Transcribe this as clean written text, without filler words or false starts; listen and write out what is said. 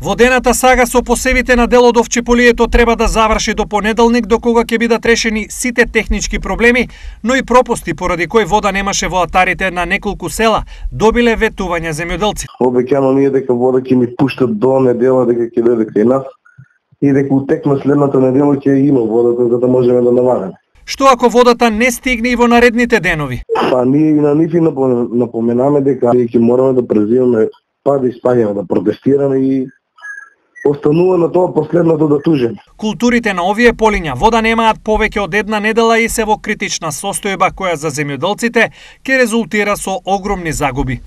Водената сага со посевите на дел од овчеполието треба да заврши до понеделник, до кога ќе бидат решени сите технички проблеми, но и пропусти поради кои вода немаше во атарите на неколку села, добиле ветување земјоделци. Обеќано ние дека вода ќе ни пуштат до недела, дека ќе дојде кај нас и дека утекна следната недела ќе има водата за да можеме да навареме. Што ако водата не стигне и во наредните денови? Па ние и на нив и напоменаме дека ќе мораме да презимаме, па да испаѓаме, да протестираме и останува на тоа последното да тужеме. Културите на овие полиња вода немаат повеќе од една недела и се во критична состојба која за земјоделците ќе резултира со огромни загуби.